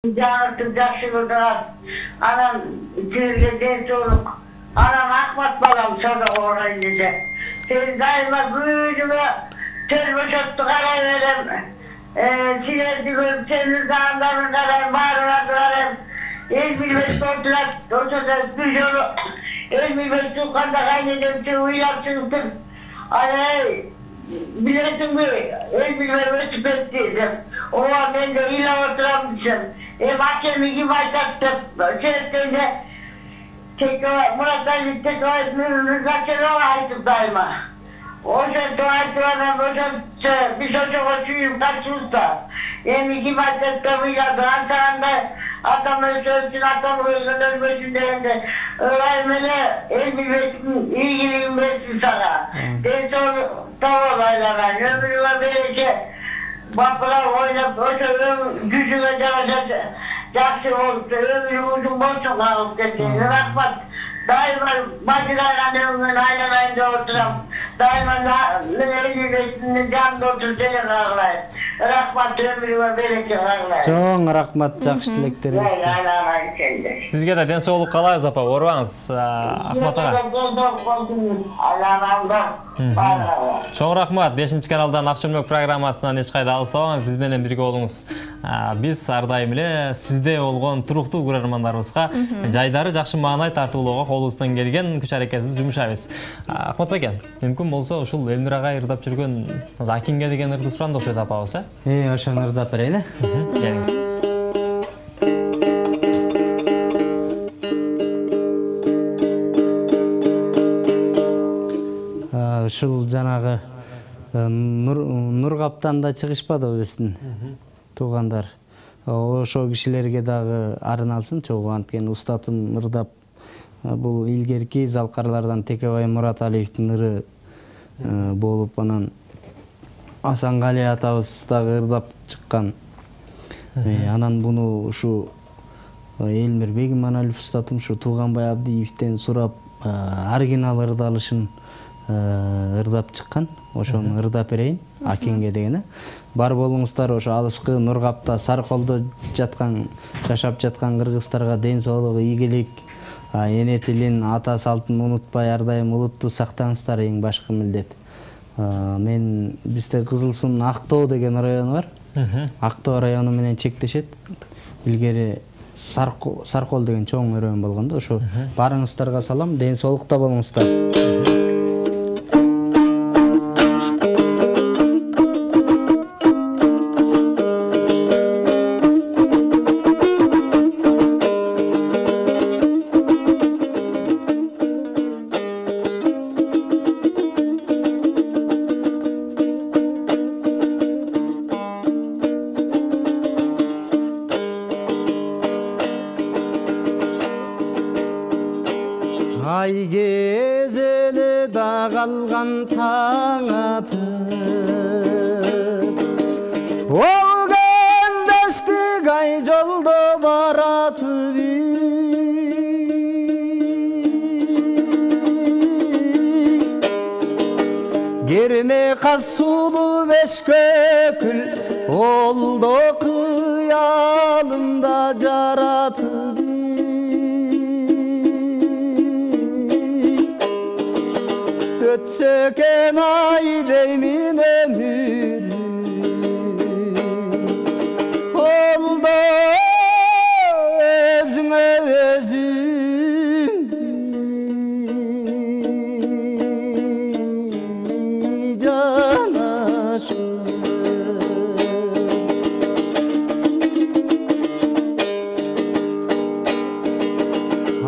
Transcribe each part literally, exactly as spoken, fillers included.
Жаңыртып жакшы көрдүңөр. Анан силерге ден соолук. Анан Акмат балам садак орайын деди. Сен дайыма күнүмө төл бошотту карай берем. Силерди көрүп, сенин заңдарын карайм, баарыңарды карайм. Эл билбес отурат, ошондо бир жолу эл билбес тукканда кайнедемчи уйлап чыгыптыр. Ай, билесиңби, эл билбей өтүп кетти деп. Ооба мен де ыйлап отурам десем. Эм акеми ким айтат деп сертенде Мурат Алиев Текебаевдин Закирова айтып дайыма. Ошентип айтып анан ошентсе биз ошого сүйүп качыбыз да. Эми ким айтат деп ыйладык. Антагандай атам өлсөсүн, атам өлгөн өлбөсүн дегенде ылай мене эл билбесин, ийгилигин берсин сага. Ден соолук табып айланайын, өмүрүңө береке. Бапыра ойнап, ошо жүзүңө жараша жакшы болуп, өмүрүң узун болсун калып кетсин. Рахмат. Дайыма бажырайган өмүрүн айланайын деп отурам. Дайыма элибесин жанында отуруп сени каалайм. Рахмат, өмүрүңө береке каалайм. Чоң рахмат, жакшы тилектериңизди. Айланайын сенде. Сизге да ден соолук каалайбыз апа, оорубаңыз, Акмат ага. Чоң рахмат. бешинчи каналдан Ак чөлмөк программасынан эч кайда алыстабаңыз, биз менен бирге болуңуз. Биз ар дайым эле сизде болгон туруктуу көрөрмандарыбызга жайдары жакшы маанай тартуулоого колубуздан келген күч аракетибизди жумшайбыз. Акмат ака, мүмкүн болсо ушул Элмирага ырдап жүргөн Акинге деген ырды суранда окшойт апабыз, э? Э, ошону ырдап берейин, э? Келиңиз. Ушул жанагы Нургаптанда чыгышпадыбы биздин туугандар. Ошо кишилерге дагы арналсын чогуу, анткени устатым ырдап бул илгерки залкарлардан Текебай Мурат Алиевдин ыры болуп, анан Асангали атабыз дагы ырдап чыккан. Анан буну ушу Элмир Бегиманалиев устатым ушу Тууганбай Абдиевден сурап оригинал ырдалышын ырдап чыккан. Ошону ырдап берейин, Акинге дегени. Бар болуңуздар, ошо алыскы Нургапта Сарколдо жаткан, жашап жаткан кыргыздарга ден соолук, ийгилик, эне тилин, ата салтын унутпай ар дайым улутту сактаңыздар, эң башкы милдет. Мен бизде Кызыл Суунун Актоо деген району бар. Актоо району менен чектешет. Илгери Саркол деген чоң район болгондо, ошо баарыңыздарга салам, ден соолукта болуңуздар. Ай кезели да калган таң атып, ол кездештик ай жолдо баратып, керме каз сулуу беш көкүл, олдо кыялымда жаратып, өтсө экен ай деймин өмүрүм, олдо өзүңө өзүң жанашып,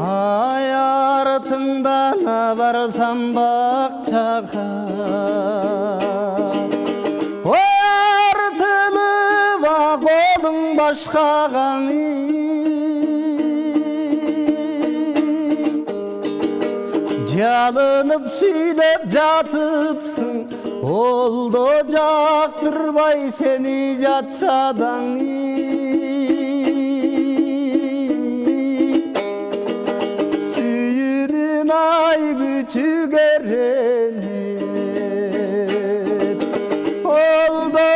ай артыңдан барсам бакчага, артылып колуң башкага, жалынып сүйлөп жатыпсың, олдо жактырбай сени жатса даң, сүйүүнүн ай күчү керенет, олдо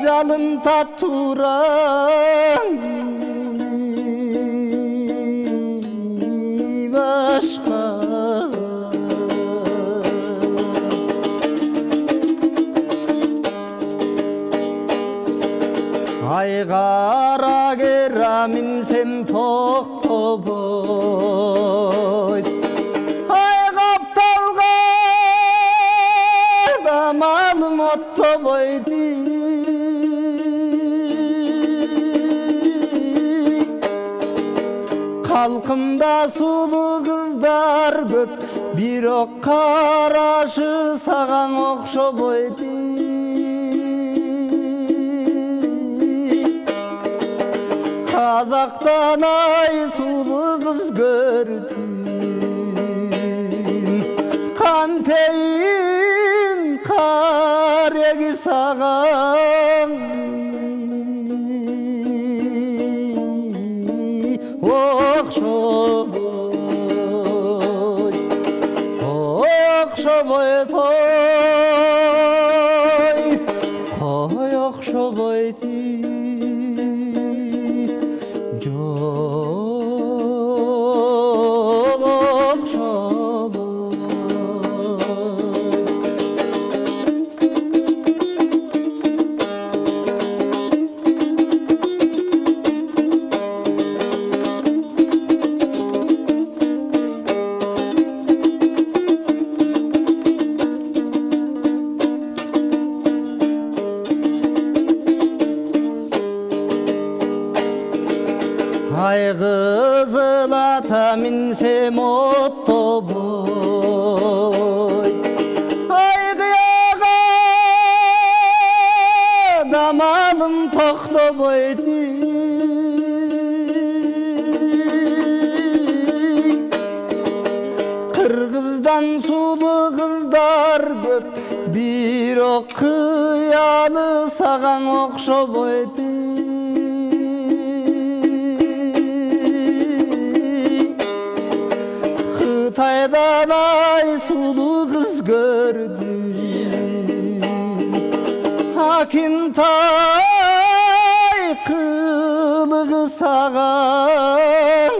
жалын татуура ай кара кера минсем токтобойт, ай капталга да малым оттобойт, халкымда сулуу кыздар көп, бирок карашы саган окшобойт. Казактан ай сулуу кыз көрдүм, кантейин кареги саган окшобойт, окшобойт, ой, кой окшобойт. Ай кызыл ата минсем оттобойт, ай кыяга да малым токтобойт, кыргыздан сулуу кыздар көп, бирок кыялы саган окшобойт. Кытайдан ай сулуу кыз көрдүм, акинтай кылыгы саган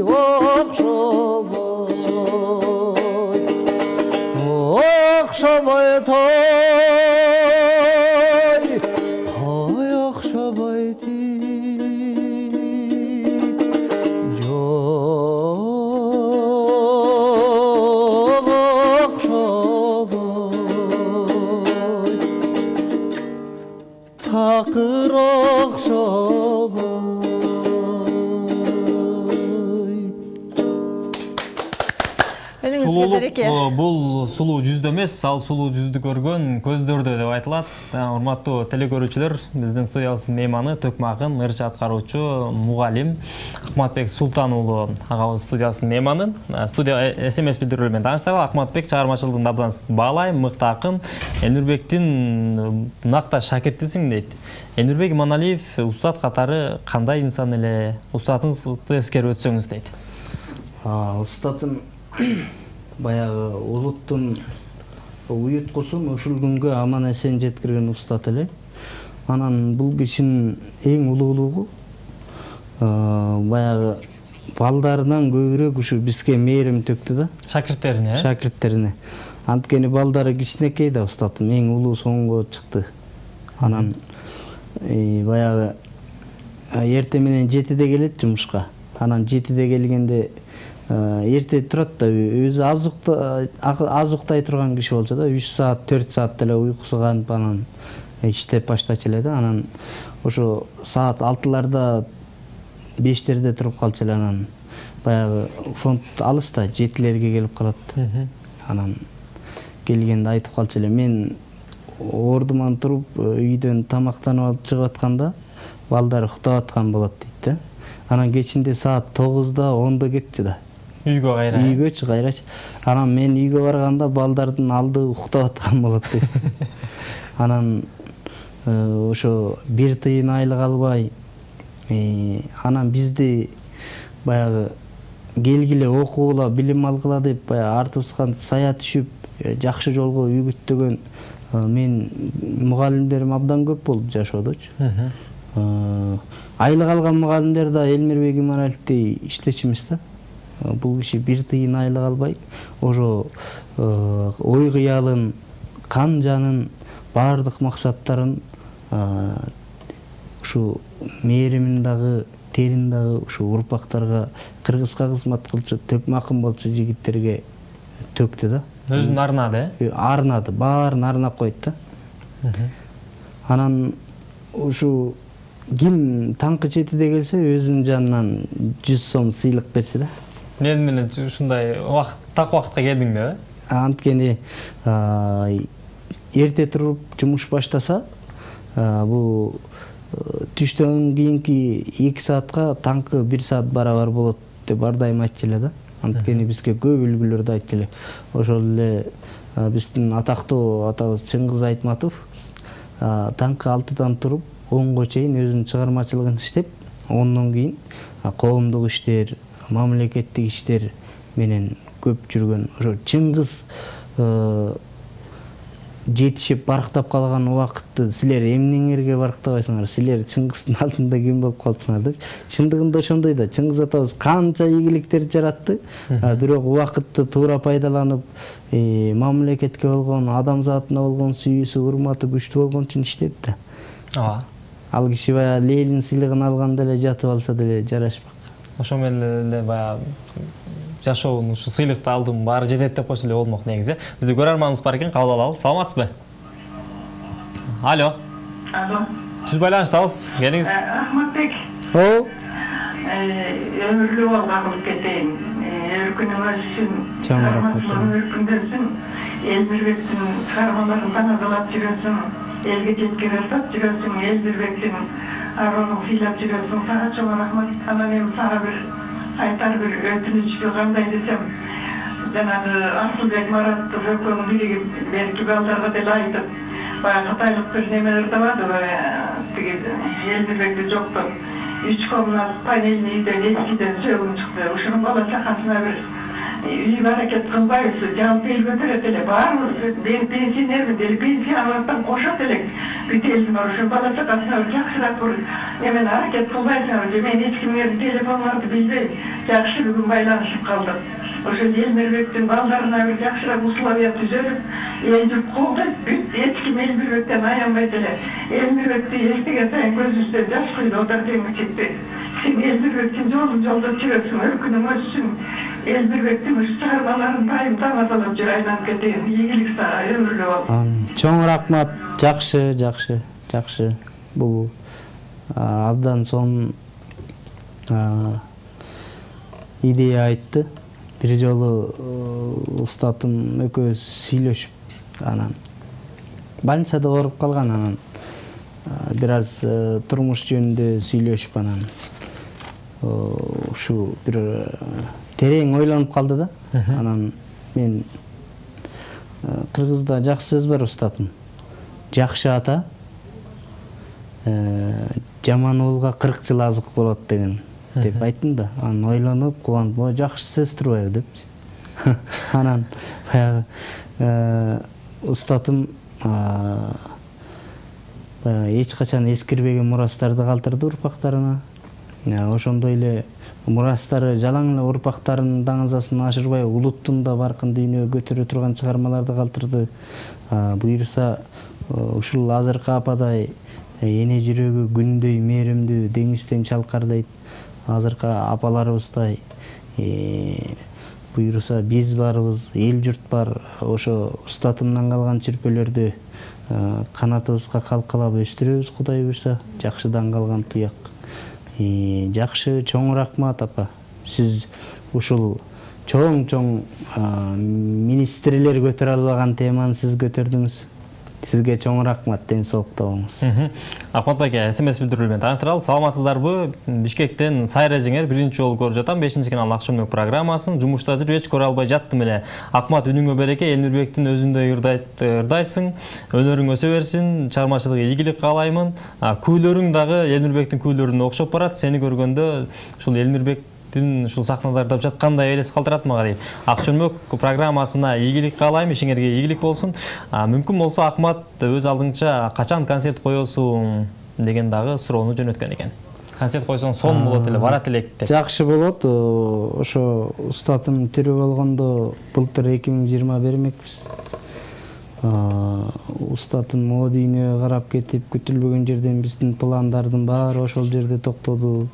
окшобойт, окшобойт, ой, кой окшобойт. Такыр окшобойт. Сулуулук бул сулуу жүздө эмес, ал сулуу жүздү көргөн көздөрдө деп айтылат. Урматтуу телекөрүүчүлөр, биздин студиябыздын мейманы Төкмө акын, ырчы аткаруучу, мугалим Акматбек Султан уулу агабыз студиябыздын мейманы. Студия эс эм эс билдирүүлөр менен тааныштыралы. Акматбек чыгармачылыгын абдан баалайм, мыкты акын. Элнурбектин накташ шакиртисиң дейт. Элнурбек Иманалиев устат катары кандай инсан эле? Устатыңызды эскерип өтсөңүз дейт. Устатым баягы улуттун уюткусун ушул күнгө аман эсен жеткирген устат эле. Анан бул кишинин эң улуулугу баягы балдарынан көбүрөөк ушу бизге мээрим төктү да. Шакирттерине? Шакирттерине. Анткени балдары кичинекей да устатым, эң улуу соңго чыкты. Анан баягы эрте менен жетиде келет жумушка. Анан жетиде келгенде эрте турат да, өзү аз уктай турган киши болчу да, үч саат, төрт саат деле уйкусу канып анан иштеп баштачу эле да. Анан ошо саат алтыларда, бештерде туруп калчу эле. Анан баягы фонд алыста, жетилерге келип калат. Анан келгенде айтып калчу эле, мен ордуман туруп үйдөн тамактанып алып чыгып атканда балдар уктап аткан болот дейт да. Анан кечинде саат тогузда, ондо кетчү да. Үйгө кайра. Үйгөчү кайрачы. Анан мен үйгө барганда балдардын алды уктап аткан болот дейт. Анан ошо бир тыйын айлык албай, анан бизди баягы келгиле окугула, билим алгыла деп баягы артыбызга сая түшүп, жакшы жолго үйгүттөгөн мен мугалимдерим абдан көп болду жашоодочу. Айлык алган мугалимдер да Элмирбек Иманалиевдей иштечү эмес да. Бул киши бир тыйын айлык албай, ошо ой кыялын, кан жанын баардык максаттарын ушу мээримин дагы терин дагы ушу урпактарга кыргызга кызмат кылчу төкмакым болчу жигиттерге төктү да. Өзүн арнады, э? Арнады, баарын арнап койду да. Анан ушу ким таңкы четиде келсе өзүнүн жанынан жүз сом сыйлык берсе да. Мен менен ушундай убакыт так убакытка келдиң да? Анткени эрте туруп жумуш баштаса, бул түштөн кийинки эки саатка таңкы бир саат барабар болот деп ар дайым айтчу эле да. Анткени бизге көп үлгүлөрдү айтчу эле. Ошол эле биздин атактуу атабыз Чыңгыз Айтматов таңкы алтыдан туруп онго чейин өзүнүн чыгармачылыгын иштеп, ондон кийин коомдук иштер, мамлекеттик иштер менен көп жүргөн. Ошо Чыңгыз жетишип барктап калган убакытты силер эмнеңерге барктабайсыңар? Силер Чыңгыздын алдында ким болуп калдыңар деп. Чындыгында ошондой да. Чыңгыз атабыз канча ийгиликтерди жаратты, бирок убакытты туура пайдаланып, мамлекетке болгон, адамзатына болгон сүйүүсү, урматы күчтүү болгон үчүн иштеди да. Ооба. Ал киши баягы Ленин сыйлыгын алганда эле жатып алса деле жарашпак. Ошо менен эле баягы жашоонун ушу сыйлыкты алдым, баары жетет деп койсо эле болмок негизи. Бизде көрөрманыбыз бар экен, кабыл алалы. Саламатсызбы? Алло. Алло. Түз байланыштабыз. Келиңиз. Ахматбек. О. Өмүрлүү бол кабылып кетейин. Өркүнүңүз үчүн. Чоң рахмат. Өркүндөрсүн. Элмирбектин чыгармаларын таанадалап жүрөсүң. Элге жеткире сап жүрөсүң. Элмирбектин аролун сыйлап жүрөсүң. Сага чоң рахмат. Анан эми сага бир айтар бир өтүнүчтү кандай десем, жанагы Асылбек Маратов экөөнүн бириги берки балдарга деле айтып, баягы кытайлык бир немелер табады, тиги Элмирбекти жоктоп, үч комнат панельный үйдөн эскиден сөөгүн чыкты. Ушунун бала чакасына бир үй аракет кылбайбыз, жалпы эл көтөрөт эле. Баарыбыз мен пенсионермин деле, пенсия алаттан кошот элек. Бүт элдин ошо бала чакасына бир жакшыраак бир эмени аракет кылбайсыңар же? Мен эч кимдин телефондорду билбейм. Жакшы бүгүн байланышып калдык. Ошо Элмирбектин балдарына бир жакшыраак условия түзөлүп, эл журт колдойт, бүт эч ким Элмирбектен аянбайт эле. Элмирбекти эстеген сайын көзүбүздөн жаш күйдү отар деңчекти. Сен Элмирбектин жолун жолдоп жүрөсүң, өркүнүң өссүн. Элмирбектин ушу чыгармаларын дайым таанадалап жүр, айланып кетейин. Ийгилик сага, өмүрлүү бол. Чоң рахмат. Жакшы, жакшы, жакшы. Бул абдан сонун идея айтты. Бир жолу устатым экөөбүз сүйлөшүп, анан больницада ооруп калган, анан бир аз турмуш жөнүндө сүйлөшүп, анан ушу бир терең ойлонуп калды да. Анан мен кыргызда жакшы сөз бар, устатым. Жакшы ата жаман уулга кырк жыл азык болот деген деп айттым да. Анан ойлонуп, кубанып, жакшы сөз турбайбы деп. Анан баягы устатым эч качан эскирбеген мурастарды калтырды урпактарына. Ошондой эле мурастары жалаң эле урпактарынын даңазасын ашырбай, улуттун да баркын дүйнөгө көтөрө турган чыгармаларды калтырды. Буюрса ушул азыркы ападай эне жүрөгү күндөй мээримдүү, деңизден чалкардайт азыркы апаларыбыздай буюрса биз барбыз, эл журт бар. Ошо устатымдан калган чүрпөлөрдү канатыбызга калкалап өстүрөбүз, Кудай буйрса. Жакшыдан калган туяк. Жакшы, чоң рахмат апа. Сиз ушул чоң-чоң министрлер көтөрө албаган теманы сиз көтөрдүңүз. Сизге чоң рахмат, ден соолукта болуңуз. Ахмат байке, смс билдирүү менен тааныштыралы. Саламатсыздарбы? Бишкектен Сайра жеңер биринчи жолу көрүп жатам. бешинчи канал Акчөмөк программасын жумушта жүрүп эч көрө албай жаттым эле. Акмат, үнүңө береке, Элмирбектин өзүндөй ырдайсың. Өнөрүң өсө берсин, чыгармачылыгы ийгилик каалаймын. Күүлөрүң дагы Элмирбектин күүлөрүнө окшоп барат. Сени көргөндө ушул Элмирбек ушул сахналарда жаткандай элес калтырат мага дейт. Акчөмөк программасына ийгилик каалайм, ишиңерге ийгилик болсун. Мүмкүн болсо Акмат өз алдыңча качан концерт коесуң деген дагы суроону жөнөткөн экен. Концерт койсоң сонун болот эле, барат элек деп. Жакшы болот. Ошо устатым тирүү болгондо былтыр эки миң жыйырма бермекпиз. устатым о дүйнөгө карап кетип, күтүлбөгөн жерден биздин пландардын баары ошол жерде токтоду.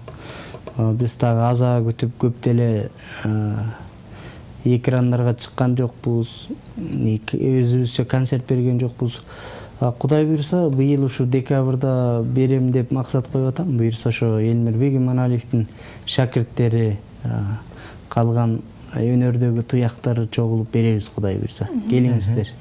Биз дагы аза күтүп көп деле экрандарга чыккан жокпуз, өзүбүзчө концерт берген жокпуз. Кудай буйрса, быйыл ушу декабрда берем деп максат коюп атам. Буйрса ошо Элмир Бегиманалиевдин шакирттери, калган өнөрдөгү туяктары чогулуп беребиз, Кудай буйрса. Келиңиздер.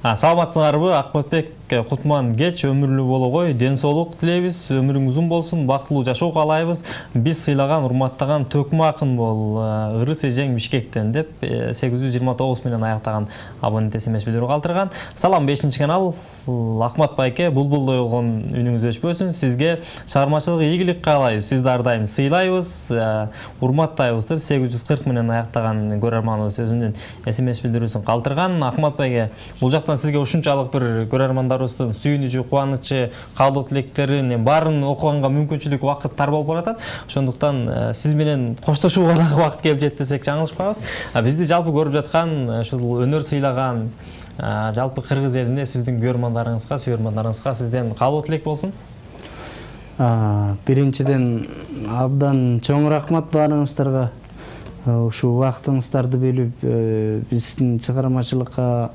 Саламатсыңарбы? Акматбек Кутман кеч өмүрлүү болгой, ден соолук тилейбиз, өмүрүң узун болсун, бактылуу жашоо каалайбыз. Биз сыйлаган, урматтаган Төкмө акын бол, Ырыс эжең Бишкектен деп сегиз жүз жыйырма тогуз менен аяктаган абонент эс эм эс билдирүү калтырган. Салам бешинчи канал. Акмат байке, булбулдой болгон үнүңүз өчпөсүн. Сизге чыгармачылык ийгилик каалайбыз. Сизди ар дайым сыйлайбыз, урматтайбыз деп сегиз жүз кырк менен аяктаган көрөрманыбыз өзүнүн эс эм эс билдирүүсүн калтырган. Акмат байке, бул жактан сизге ушунчалык бир көрөрмандарыбыздын сүйүнүчү, кубанычы, каалоо тилектерин баарын окуганга мүмкүнчүлүк, вакыт тар болуп баратат. Ошондуктан сиз менен коштошууга дагы вакыт келип жетти десек жаңылышпайбыз. Бизди жалпы көрүп жаткан, ушул өнөр сыйлаган жалпы кыргыз элине, сиздин көрөрмандарыңызга, сүйөрмандарыңызга сизден каалоо тилек болсун. Биринчиден абдан чоң рахмат баарыңыздарга. Ушул убактыңыздарды бөлүп, биздин чыгармачылыкка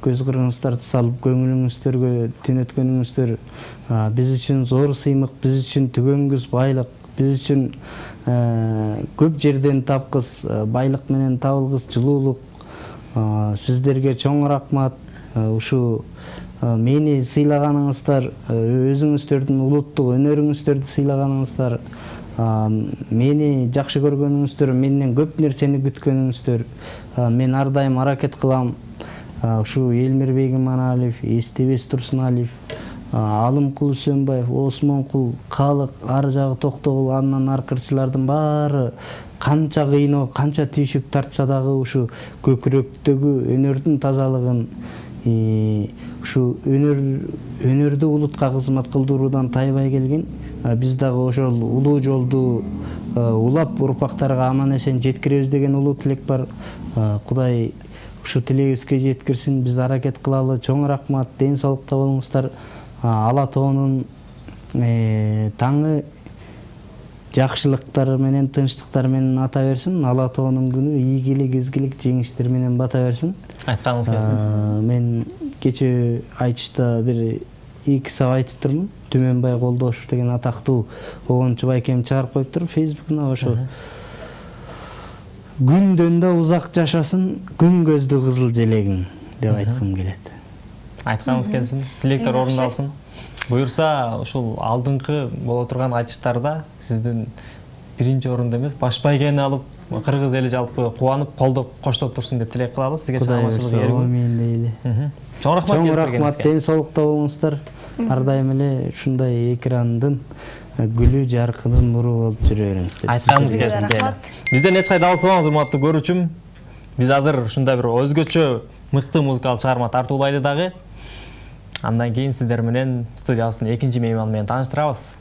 көз кырыңыздарды салып, көңүлүңүздөргө түнөткөнүңүздөр биз үчүн зор сыймык, биз үчүн түгөнгүс байлык, биз үчүн көп жерден тапкыс, байлык менен табылгыс жылуулук. Сиздерге чоң рахмат. Ушу мени сыйлаганыңыздар, өзүңүздөрдүн улуттук өнөрүңүздөрдү сыйлаганыңыздар, мени жакшы көргөнүңүздөр, менден көп нерсени күткөнүңүздөр. Мен ар дайым аракет кылам. Ушу Элмир Бегиманалиев, Эстебес Турсуналиев, Алымкул Үсөнбаев, Осмонкул, Калык, ар жагы Токтогул, андан аркырчылардын баары канча кыйноо, канча түйшүк тартса дагы ушу көкүрөктөгү өнөрдүн тазалыгын, ушу өнөр өнөрдү улутка кызмат кылдыруудан тайбай келген. Биз дагы ошол улуу жолду улап урпактарга аман эсен жеткиребиз деген улуу тилек бар. Кудай ушу тилегибизге жеткирсин. Биз аракет кылалы. Чоң рахмат. Ден соолукта болуңуздар. Ала тоонун таңы жакшылыктар менен, тынчтыктар менен ата берсин. Ала тоонун күнү ийгилик, изгилик, жеңиштер менен бата берсин. Айтканыңыз келсин. Мен кече айтышта бир эки саат айтып турмун. Түмөнбай Колдошев деген атактуу огончу байкем чыгарып коюптур Фейсбукуна. Ошо күндөн да узак жашасын күн көздүү кызыл желегиң деп айткым келет. Айтканыңыз келсин, тилектер орундалсын. Буюрса, ушул алдыңкы боло турган айтыштарда сиздин биринчи орунда эмес, баш байгени алып, кыргыз эли жалпы кубанып, колдоп, коштоп турсун деп тилек кылабыз. Сизге чыгармачылык эргүү. Амин дейли. Чоң рахмат. Чоң рахмат, ден соолукта болуңуздар. Ар дайым эле ушундай экрандын гүлү, жаркынын нуру болуп жүрө бериңиздер. Айтканыңыз келсин. Бизден эч кайда алсаңыз, урматтуу көрүүчүм. Биз азыр ушундай бир өзгөчө мыкты музыкалык чыгарма тартуулайлы дагы. Андан кийин сиздер менен студиябыздын экинчи мейманы менен тааныштырабыз.